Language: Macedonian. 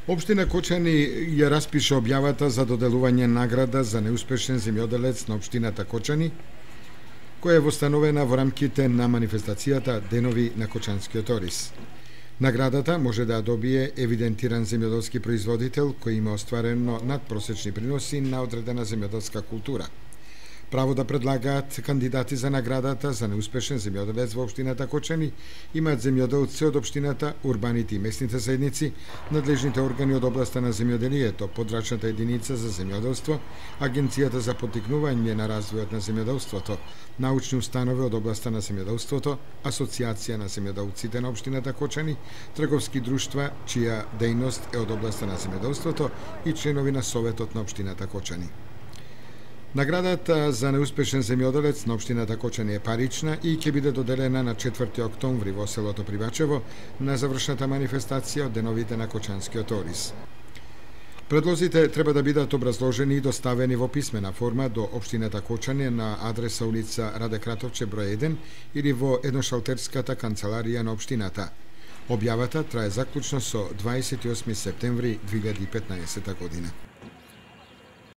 Општина Кочани ја распиша објавата за доделување награда за неуспешен земјоделец на општината Кочани, која е востановена во рамките на манифестацијата Денови на Кочанскиот ориз. Наградата може да ја добие евидентиран земјоделски производител кој има остварено надпросечни приноси на одредена земјоделска култура. Право да предлагаат кандидати за наградата за неуспешен земјоделец во општината Кочани имаат земјоделци од општината, урбаните и местните заедници, надлежните органи од областа на земјоделието, подрачната единица за земјоделство, Агенцијата за поттикнување на развојот на земјоделството, научни установи од областа на земјоделството, Асоцијација на земјоделците на општината Кочани, трговски друштва чија дејност е од областа на земјоделството и членови на Советот на општината Кочани. Наградата за неуспешен земјоделец на општината Кочани е парична и ќе биде доделена на 4 октомври во селото Привачево на завршната манифестација од Деновите на Кочанскиот ориз. Предлозите треба да бидат образложени и доставени во писмена форма до општината Кочани на адреса улица Раде Кратовче број 1 или во едношалтерската канцеларија на општината. Објавата трае заклучно со 28 септември 2015 година.